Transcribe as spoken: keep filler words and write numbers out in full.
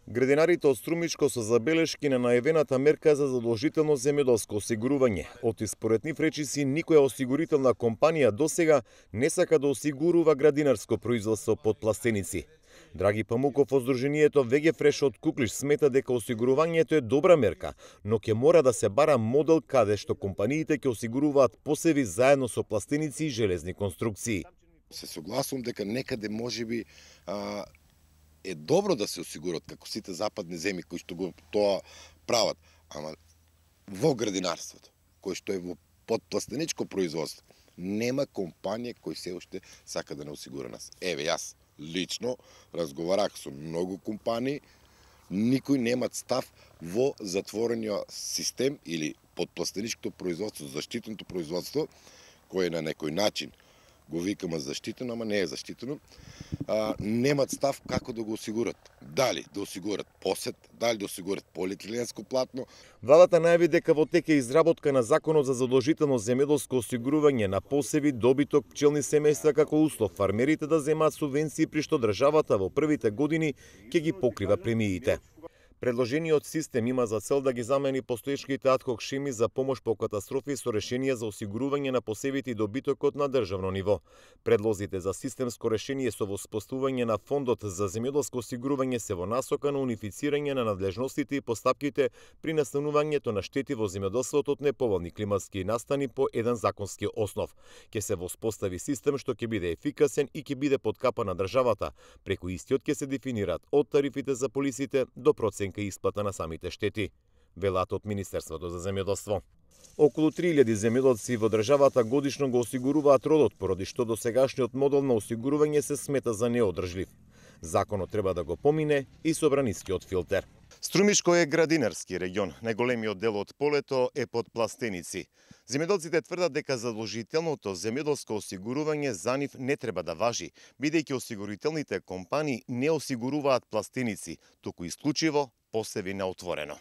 Градинарите од Струмичко со забелешки на најавената мерка за задолжително земјоделско осигурување. Оти според нив речиси никоја осигурителна компанија досега не сака да осигурува градинарско производство под пластеници. Драги Памуков од Сдруженијето Вегефреш од Куклиш смета дека осигурувањето е добра мерка, но ќе мора да се бара модел каде што компаниите ќе осигуруваат посеви заедно со пластеници и железни конструкции. Се согласувам дека некаде можеби а, е добро да се осигурат како сите западни земји кои што го тоа прават, ама во градинарството, кој што е во подпластеничко производство, нема компанија кој се уште сака да не осигура нас. Еве, јас лично разговарах со многу компании, никој немат став во затворениот систем или подпластеничкото производство, заштитеното производство, кој е на некој начин го викаме заштитено, ама не е заштитено, а, немат став како да го осигурат. Дали да осигурат посет, дали да осигурат полиетиленско платно. Владата најави дека во тек е изработка на законот за задолжително земјоделско осигурување на посеви, добиток, пчелни семејства како услов фармерите да земаат субвенции при што државата во првите години ќе ги покрива премиите. Предложениот систем има за цел да ги замени постоечките адхок шеми за помош по катастрофи со решение за осигурување на посевите и добитокот на државно ниво. Предлозите за системско решение со воспоставување на фондот за земјоделско осигурување се во насока на унифицирање на надлежностите и постапките при настанувањето на штети во земјоделството од неповолни климатски настани по еден законски основ. Ќе се воспостави систем што ќе биде ефикасен и ќе биде под капа на државата, преку истиот ќе се дефинираат од тарифите за полисите до проценка и исплата на самите штети, велат од Министерството за земјоделство. Околу три илјади земјоделци во државата годишно го осигуруваат родот, поради што досегашниот модел на осигурување се смета за неодржлив. Законот треба да го помине и собранискиот филтер. Струмишко е градинарски регион. Најголемиот дел од полето е под пластеници. Земјоделците тврдат дека задолжителното земјоделско осигурување за нив не треба да важи, бидејќи осигурителните компании не осигуруваат пластеници, туку исклучиво посеви на отворено.